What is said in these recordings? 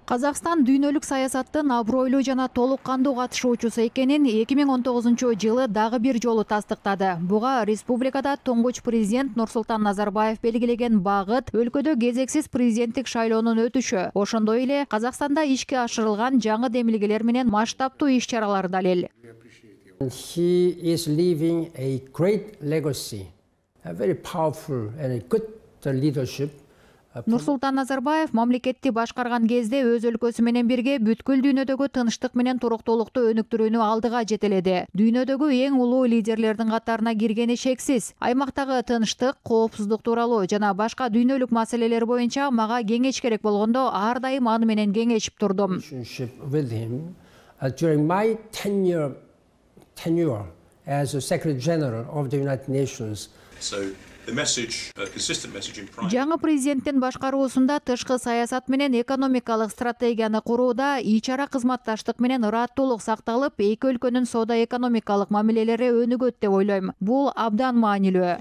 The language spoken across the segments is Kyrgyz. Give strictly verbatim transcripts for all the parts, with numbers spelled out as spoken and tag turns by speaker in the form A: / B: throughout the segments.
A: Казакстан дүйнөлүк саясаттын абройлуу жана толук кандуу катышуучусу экенин эки миң он тогузунчу жылы дагы бир жолу тастыктады. Буга республикада туңгуч президент Нурсултан Назарбаев белгилеген багыт өлкөдө кезексиз президенттик шайлоонун өтүшү, ошондой эле Казакстанда ишке ашырылган жаңы демилгелер менен масштабтуу иш-чаралар далил.
B: He is leaving a great legacy, a very powerful and good leadership.
A: Нурсултан Назарбаев мамлекетти башкарган кезде өз өлкөсү менен бирге бүткүл дүйнөдөгү тынчтык менен туруктуулукту өнүктүрүүнү алдыга жетеледи. Дүйнөдөгү эң улуу лидерлердин катарына киргени шексиз. Аймактагы тынчтык, коопсуздук тууралуу жана башка дүйнөлүк маселелер боюнча мага кеңеш керек болгондо ар дайым аны менен кеңешип турдум.
B: During my tenure, tenure as a Secretary General of the United Nations.
C: So the message, a consistent message in private.
A: Жаңы президенттин башкаруусунда тышкы саясат менен экономикалык стратегияны курууда ичара кызматташтык менен ыраттуулук сакталып, эки өлкөнүн соода-экономикалык мамилелери өнүгөт деп ойлойм. Бул абдан маанилүү.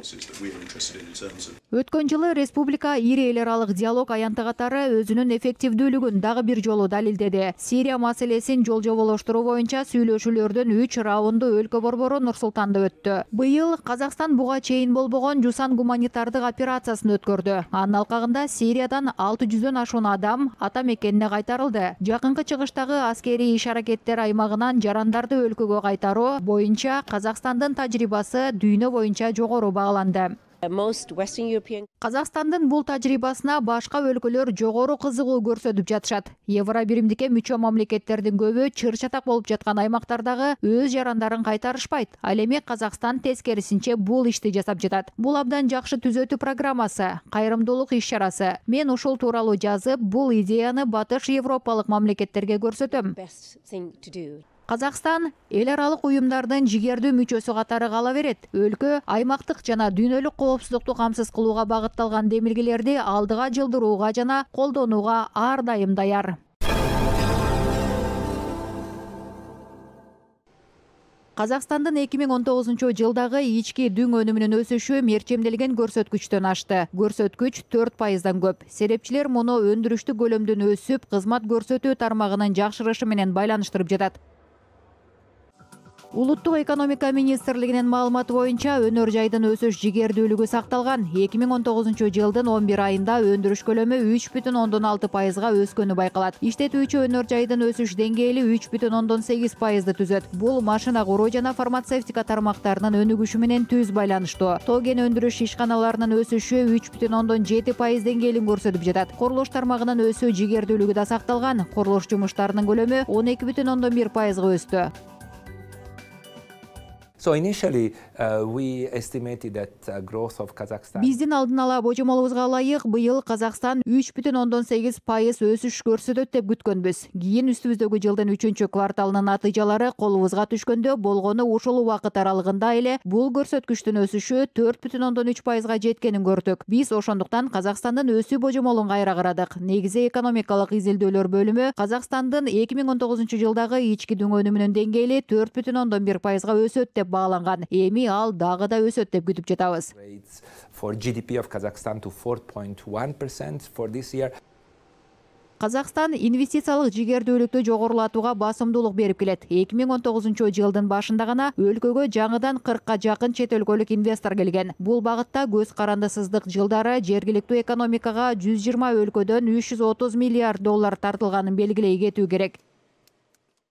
A: Өткөн жылы республика ири эл аралык диалог аянты катары өзүнүн эффективдүүлүгүн дагы бир жолу далилдеди. Сирия маселесин жол-жоболоштуруу боюнча сүйлөшүүлөрдүн үч раунду өлкө борбору Нур-Султанда өттү. Быйыл Казакстан буга чейин болбогон Жусан гуманитардык операциясын өткөрдү. Анын алкагында Сириядан алты жүздөн ашуун адам ата мекенине кайтарылды. Жакынкы чыгыштагы аскерий иш-аракеттер аймагынан жарандарды өлкөгө кайтаруу боюнча Казакстандын тажрыйбасы дүйнө боюнча жогору бааланды. Казакстандын бул тажрыйбасына башка өлкөлөр жогору кызыгуу көрсөтүп жатышат. Евробиримдикке мүчө мамлекеттердин көбү чыр-чатак болуп жаткан аймактардагы өз жарандарын кайтарышпайт. Ал эми Казакстан тескерисинче бул ишти жасап жатат. Бул абдан жакшы түзөтүү программасы, кайрымдуулук иш-чарасы. Мен ушул тууралуу жазып, бул идеяны батыш европалык мамлекеттерге көрсөтөм. Казакстан эл аралык уюмдардын жигердүү мүчөсү катары кала берет. Өлкө аймактык жана дүйнөлүк коопсуздукту камсыз кылууга багытталган демилгелерди алдыга жылдырууга жана колдонууга ар дайым даяр. Казакстандын эки миң он тогузунчу жылдагы ички дүң өнүмүнүн өсүшү мерчемделген көрсөткүчтөн ашты. Көрсөткүч төрт пайыздан көп. Серепчилер муну өндүрүштүк көлөмдүн өсүп, кызмат көрсөтүү тармагынын жакшырышы менен байланыштырып жатат. Улуттук экономика министрлигинин маалыматы боюнча өнөр жайдын өсүш жигердүүлүгү сакталган. эки миң он тогузунчу жылдын он бир айында өндүрүш көлөмү үч бүтүн ондон алты пайызга өскөнү байкалат. Иштетүүчү өнөр жайдын өсүш деңгээли үч бүтүн ондон сегиз пайызды түзөт. Бул машина куруу жана фармацевтика тармактарынын өнүгүшү менен түз байланыштуу. Тоо кен өндүрүш ишканаларынын өсүшү үч бүтүн ондон жети пайыз деңгээлин көрсөтүп жатат. Курулуш тармагынын өсүү жигердүүлүгү да сакталган. Курулуш жумуштарынын көлөмү он эки бүтүн ондон бир пайызга өстү.
D: So initially, uh, we estimated that uh, growth of Kazakhstan.
A: Биздин алдын ала божомолубузга ылайык быйыл Казакстан үч бүтүн ондон сегиз пайыз өсүш көрсөтөт деп күткөнбүз. Кийин үстүбүздөгү жылдын үчүнчү кварталынын натыйжалары колубузга түшкөндө болгону ушул убакыт аралыгында эле бул көрсөткүчтүн өсүшү төрт бүтүн ондон үч пайызга жеткенин көрдүк. Биз ошондуктан Казакстандын өсүү божомолун кайра карадык. Негизи экономикалык изилдөөлөр бөлүмү Казакстандын эки миң он тогузунчу жылдагы ички дүң өнүмүнүн деңгээли төрт бүтүн ондон бир пайызга өсөт деп бааланган. Эми ал дагы да өсөт деп күтүп жатабыз.
D: For G D P of Kazakhstan to four point one percent for this year.
A: Казакстан инвестициялык жигердүүлүктү жогорулатууга басымдуулук берип келет. эки миң он тогузунчу жылдын башында гана өлкөгө жаңыдан кыркка жакын чет өлкөлүк инвестор келген. Бул багытта көз карандысыздык жылдары жергиликтүү экономикага жүз жыйырма өлкөдөн үч жүз отуз миллиард доллар тартылганын белгилей кетүү керек.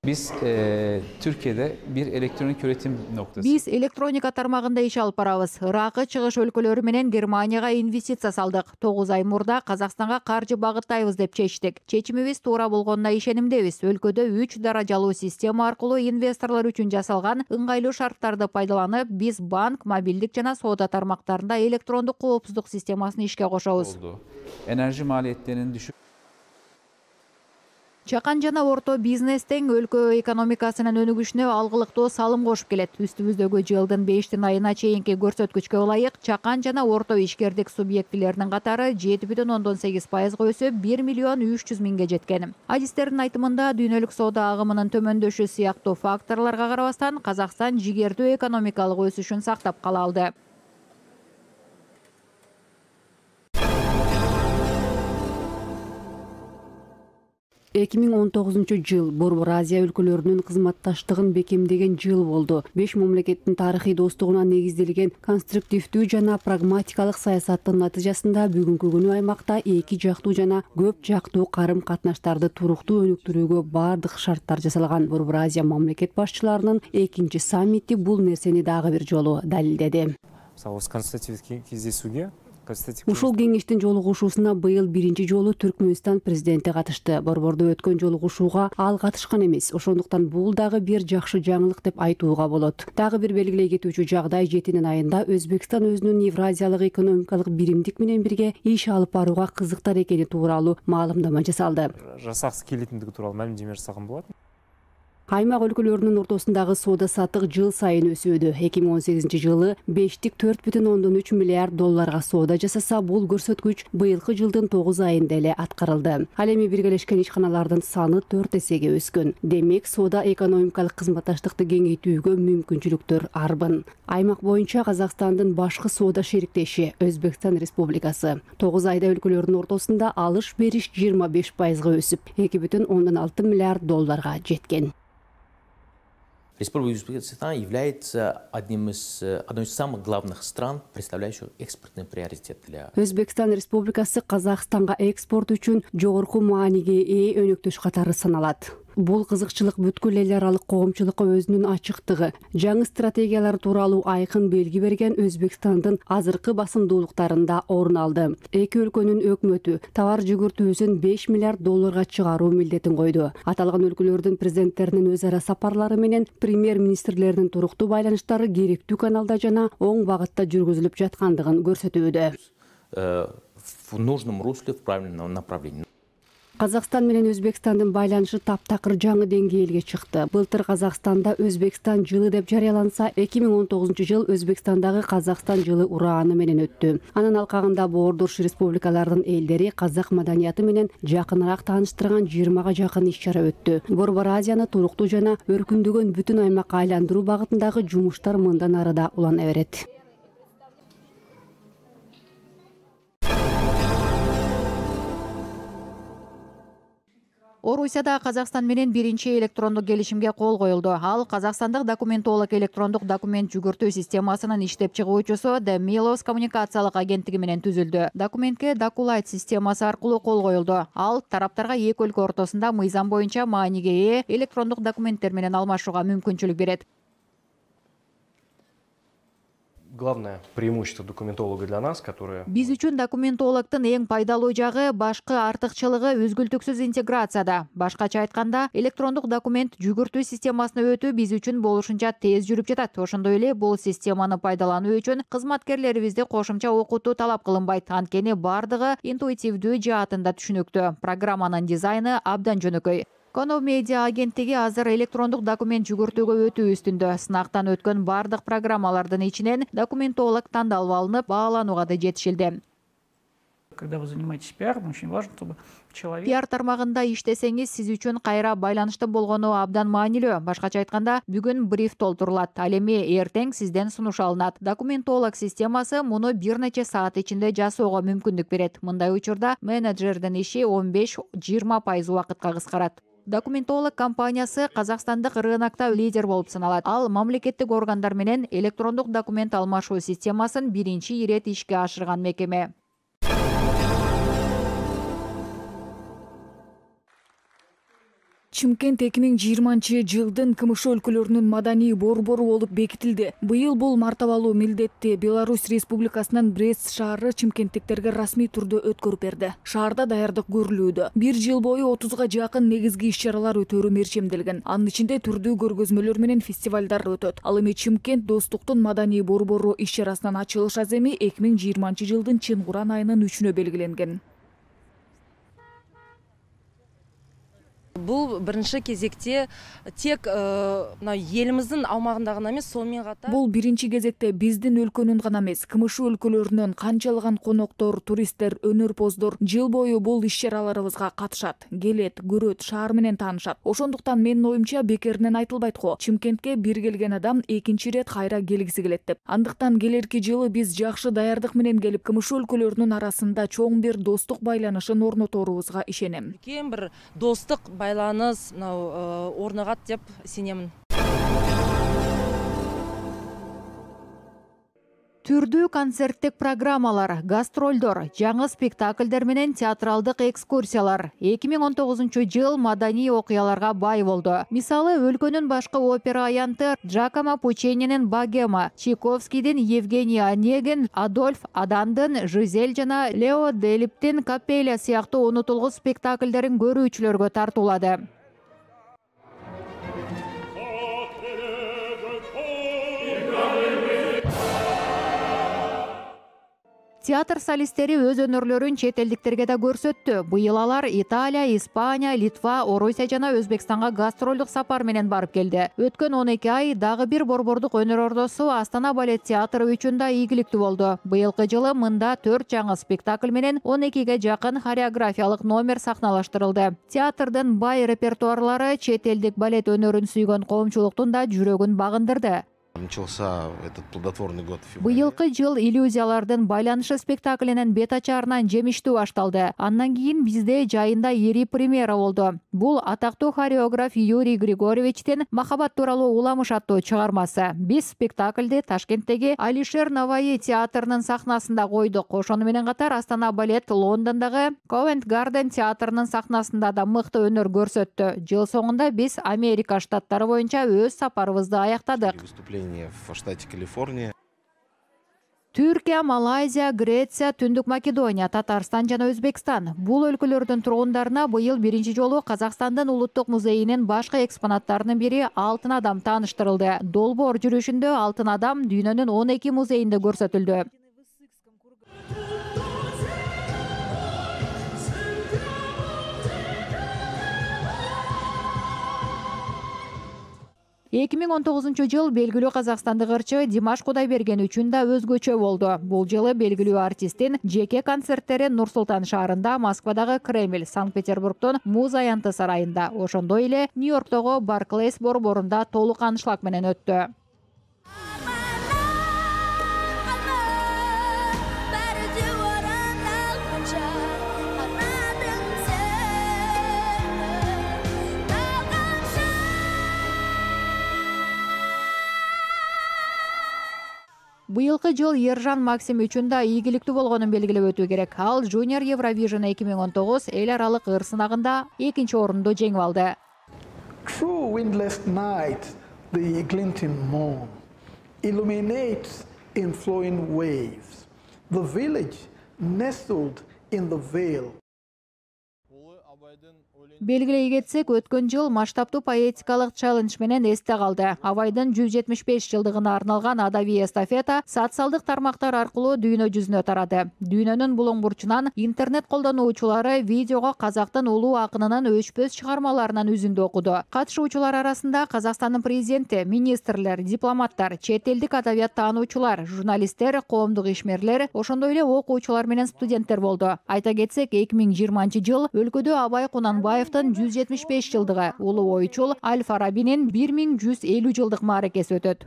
E: Biz e, Türkiye'de bir elektronik üretim noktası.
A: Биз электроника тармагында иш алып барабыз. Ыракы чыгыш өлкөлөрү менен Германияга инвестиция салдык. тогуз ай мурда Казакстанга каржы багыттайбыз деп чечтик. Чечимибиз туура болгонуна ишенимдебиз. Өлкөдө үч даражалуу система аркылуу инвесторлор үчүн жасалган ыңгайлуу шарттарды пайдаланып, биз банк, мобилдик жана соода тармактарында электрондук коопсуздук системасын ишке кошобуз.
E: Enerji maliyetlerinin düşük.
A: Чакан жана орто бизнес тең өлкө экономикасынын өнүгүшүнө алгылыктуу салым кошуп келет. Үстүбүздөгү жылдын бештин айына чейинки көрсөткүчкө ылайык чакан жана орто ишкердик субъектилеринин катары жети бүтүн ондон сегиз пайызга өсүп, бир миллион үч жүз миңге жеткен. Адистердин айтымында дүйнөлүк соода агымынын төмөндөшү сыяктуу факторлорго карабастан Казакстан жигердүү экономикалык өсүшүн сактап кала алды.
F: эки миң он тогузунчу жыл Борбор Азия өлкөлөрүнүн кызматташтыгын бекемдеген жыл болду. Беш мамлекеттин тарыхый достугуна негизделген конструктивдүү жана прагматикалык саясаттын натыйжасында бүгүнкү күнү аймакта эки жактуу жана көп жактуу карым-катнаштарды туруктуу өнүктүрүүгө бардык шарттар жасалган. Борбор Азия мамлекет башчыларынын экинчи саммити бул нерсени дагы бир жолу далилдеди. Ушул кеңештин жолугушуусуна быйыл биринчи жолу Түркмөнстан президенти катышты. Борбордо өткөн жолугушууга ал катышкан эмес. Ошондуктан бул дагы бир жакшы жаңылык деп айтууга болот. Дагы бир белгилей кетүүчү жагдай жетинин айында Өзбекстан өзүнүн Евразиялык экономикалык биримдик менен бирге иш алып барууга кызыктар экени тууралуу маалымдама жасалды.
G: Жасаксы келетиндиги тууралуу маалымдама жасаган болот.
F: Аймак өлкөлөрүнүн ортосундагы соода саттык жыл сайын өсүүдө. эки миң он сегизинчи жылы бештик төрт бүтүн ондон үч миллиард долларга соода жасаса, бул көрсөткүч быйылкы жылдын тогуз айында эле аткарылды. Ал эми биргелешкен ишканалардын саны төрт эсеге өскөн. Демек, соода экономикалык кызматташтыкты кеңейтүүгө мүмкүнчүлүктөр арбын. Аймак боюнча Казакстандын башкы соода шериктеши Өзбекстан Республикасы. тогуз айда өлкөлөрдүн ортосунда алыш бериш жыйырма беш пайызга өсүп, эки бүтүн ондон алты миллиард долларга жеткен.
H: Республика Узбекистан является одним из, одной из самых главных стран, представляющих экспортный приоритет для...
F: Өзбекстан Республикасы Казакстанга экспорт үчүн жогорку мааниге ээ өнөктөш катары саналат. Бул кызыкчылык бүткүл эл аралык коомчулукка өзүнүн ачыктыгы, жаңы стратегиялар тууралуу айкын белги берген Өзбекстандын азыркы басымдуулуктарында орун алды. Эки өлкөнүн өкмөтү товар жүгүртүүсүн беш миллиард долларга чыгаруу милдетин койду. Аталган өлкөлөрдүн президенттеринин өз ара сапарлары менен премьер-министрлердин туруктуу байланыштары керектүү каналда жана оң багытта жүргүзүлүп жаткандыгын көрсөтүүдө.
H: В нужном русле, в правильном направлении.
F: Казакстан менен Өзбекстандын байланышы таптакыр жаңы деңгээлге чыкты. Былтыр Казакстанда Өзбекстан жылы деп жарыяланса, эки миң он тогузунчу жыл Өзбекстандагы Казакстан жылы урааны менен өттү. Анын алкагында боордош республикалардын элдери казак маданияты менен жакыныраак тааныштырган жыйырмага жакын иш-чара өттү. Борбор Азияны туруктуу жана өркүндөгөн бүтүн аймакка айландыруу багытындагы жумуштар мындан ары да улана берет.
A: Орусияда Казакстан менен биринчи электрондук келишимге кол коюлду. Ал Казакстандык документолог электрондук документ жүгүртүү системасынын иштеп чыгуучусу The Milos коммуникациялык агенттиги менен түзүлдү. Документке Doculite системасы аркылуу кол коюлду. Ал тараптарга эки өлкө ортосунда мыйзам боюнча мааниге ээ электрондук документтер менен алмашууга мүмкүнчүлүк берет.
G: Главное преимущество документолога для нас, которое...
A: Биз үчүн документологдун эң пайдалуу жагы башкы артыкчылыгы үзгүлтүксүз интеграцияда. Башкача айтканда, электрондук документ жүгүртүү системасына өтүү биз үчүн болушунча тез жүрүп жатат. Ошондой эле бул системаны пайдалануу үчүн кызматкерлерибизди кошумча окутуу талап кылынбайт. Анткени бардыгы интуитивдүү жаатында түшүнүктүү. Программанын дизайны абдан жөнөкөй. Kono Media агенттиги азыр электрондук документ жүгүртүүгө өтүү үстүндө. Сынактан өткөн бардык программалардын ичинен документолог тандалып алынып, бааланууга да жетишилди.
I: Когда вы занимаетесь пиаром, очень важно, чтобы человек...
A: Пиар тармагында иштесеңиз, сиз үчүн кайра байланыштын болгону абдан маанилүү. Башкача айтканда, бүгүн бриф толтурулат, ал эми эртең сизден сунуш алынат. Документолог системасы муну бир нече саат ичинде жасоого мүмкүндүк берет. Мындай учурда менеджердин иши он беш жыйырма пайыз убакытка кыскарат. Документолог компаниясы Казакстандык рынокто лидер болуп саналат. Ал мамлекеттик органдар менен электрондук документ алмашуу системасын биринчи ирет ишке ашырган мекеме.
J: Чымкент эки миң жыйырманчы жылдын КМШ өлкөлөрүнүн маданий борбору болуп бекитилди. Быйыл бул мартабалуу милдетти Беларусь Республикасынын Брест шаары чымкенттиктерге расмий түрдө өткөрүп берди. Шаарда даярдык көрүлүүдө. Бир жыл бою отузга жакын негизги иш-чаралар өтөрү мерчемделген. Анын ичинде түрдүү көргөзмөлөр менен фестивалдар өтөт. Ал эми Чымкент Достуктун маданий борбору иш-чарасынын ачылыш аземи эки миң жыйырманчы жылдын Чынгуран айынын үчүнө белгиленген.
K: Бул биринчи кезекте тек мына элибиздин аумагында гана эмес, сонун катар
J: бул биринчи кезекте биздин өлкөнүн гана эмес, КМШ өлкөлөрүнөн канчалаган коноктор, туристтер, өнөрпоздор жыл бою бул иш-чараларыбызга катышат, келет, көрөт, шаар менен таанышат. Ошондуктан менин оюмча бекеринен айтылбайт го. Чымкентке бир келген адам экинчи ирет кайра келгиси келет деп. Андыктан келерки жылы биз жакшы даярдык менен келип, КМШ өлкөлөрүнүн арасында чоң бир достук байланышын орноторубузга ишенем.
K: Кем бир достук байланыш орногат деп сенемин.
A: Түрдүү концерттик программалар, гастролдор, жаңы спектакльдер менен театралдык экскурсиялар эки миң он тогузунчу жыл маданий окуяларга бай болду. Мисалы, өлкөнүн башкы опера аянты Джакомо Пуччининин Богема, Чайковскийдин Евгений Онегин, Адольф Адандын Жизель жана Лео Делиптин Капелля сыяктуу унутулгус спектакльдерин көрүүчүлөргө тартуулады. Театр солисттери өз өнөрлөрүн чет элдиктерге да көрсөттү. Быйыл алар Италия, Испания, Литва, Орусия жана Өзбекстанга гастролдук сапар менен барып келди. Өткөн он эки ай дагы бир борбордук өнөр ордосу Астана балет театры үчүн да ийгиликтүү болду. Быйылкы жылы мында төрт жаңы спектакль менен он экиге жакын хореографиялык номер сахналаштырылды. Театрдын бай репертуарлары чет элдик балет өнөрүн сүйгөн коомчулуктун да жүрөгүн багындырды.
L: Начался этот плодотворный год.
A: Быйылкы жыл иллюзиялардын байланышы спектаклинин бет ачаарынан жемиштүү башталды. Андан кийин бизде жайында ири премьера болду. Бул атактуу хореограф Юрий Григорьевичтин Махаббат тууралуу уламыш аттуу чыгармасы. Биз спектакльди Ташкенттеги Алишер Наваи театрынын сахнасында койдук. Ошону менен катар Астана балет Лондондогу Ковент Гарден театрынын сахнасында да мыкты өнөр көрсөттү. Жыл соңунда биз Америка штаттары боюнча өз сапарыбызды аяктадык.
L: В штате Калифорния.
A: Түркия, Малайзия, Греция, Түндүк Македония, Татарстан жана Өзбекстан. Бул өлкөлөрдүн тургундарына быйыл биринчи жолу Казакстандын улуттук музейинин башкы экспонаттарынын бири Алтын адам тааныштырылды. Долбоор жүрүшүндө Алтын адам дүйнөнүн он эки музейинде көрсөтүлдү. эки миң он тогузунчу жыл белгилүү казакстандык ырчы Димаш Кудайберген үчүн да өзгөчө болду. Бул жылы белгилүү артисттин жеке концерттери Нур Султан шаарында, Москвадагы Кремль, Санкт-Петербургдон Муз аянты сарайында, ошондой эле Нью-Йорктогу Барклейс борборунда толук аншлаг менен өттү. Быйылкы жыл Ержан Максим үчүн да ийгиликтүү болгонун белгилеп өтүү керек. Ал Junior Eurovision эки миң он тогуз эл аралык ыр сынагында экинчи орунду жеңип алды.
M: True windless night, the glinting moon illuminates in flowing waves. The village nestled in the vale.
A: Белгилей кетсек, өткөн жыл масштабтуу поэтикалык челлендж менен эсте калды. Абайдын жүз жетимиш беш жылдыгына арналган адаби эстафета социалдык тармактар аркылуу дүйнө жүзүнө тарады. Дүйнөнүн булуң бурчунан интернет колдонуучулары видеого казактын улуу акынынын өчпөс чыгармаларынан үзүндү окуду. Катышуучулар арасында Казакстандын президенти, министрлер, дипломаттар, чет элдик адабият таануучулар, журналисттер, коомдук ишмерлер, ошондой эле окуучулар менен студенттер болду. Айта кетсек, эки миң жыйырманчы жыл өлкөдө Абай Кунанбаевдин жүз жетимиш беш жылдыгы, улуу ойчул Аль Фарабинин бир миң жүз элүү жылдык мааракеси өтөт.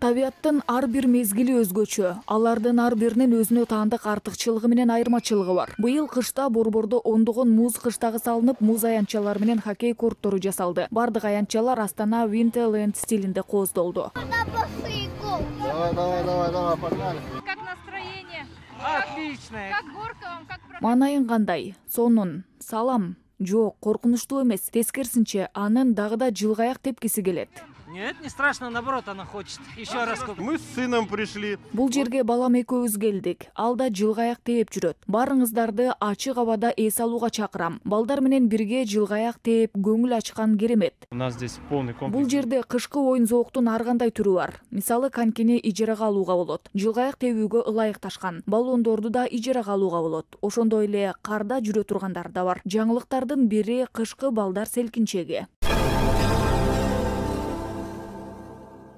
J: Табиаттын ар бир мезгили өзгөчө. Алардын ар биринин өзүнө таандык артыкчылыгы менен айырмачылыгы бар. Быйыл кышта Борбордо ондогон муз кыштагы салынып, муз аянтчалары менен хоккей корттору жасалды. Бардык аянтчалар Астана Winterland стилинде кооздолду.
M: Давай, давай, давай, давай, погнали.
N: Как настроение?
M: Отлично.
N: Как горка вам? Как про...
J: Манайын кандай? Сонун. Салам. Жок, коркунучтуу эмес. Тескерисинче, анын дагы да жылгаяк тепкиси келет.
I: Нет, не страшно, наоборот, она хочет. Еще раз.
L: Мы с сыном пришли.
J: Бул жерге балам экөөбүз келдик. Ал да жылгаяк тээп жүрөт. Барыңыздарды ачык абада эс алууга чакырам. Балдар менен бирге жылгаяк тээп көңүл ачкан керемет.
G: У нас здесь полный комплекс.
J: Бул жерде кышкы оюн зооктун ар кандай түрү бар. Мисалы конькини ижарага алууга болот. Жылгаяк тебүүгө ылайыкташкан. Баллондорду да ижарага алууга болот. Ошондой эле карда жүрө тургандар да бар. Жаңылыктардын бири кышкы балдар селкинчеги.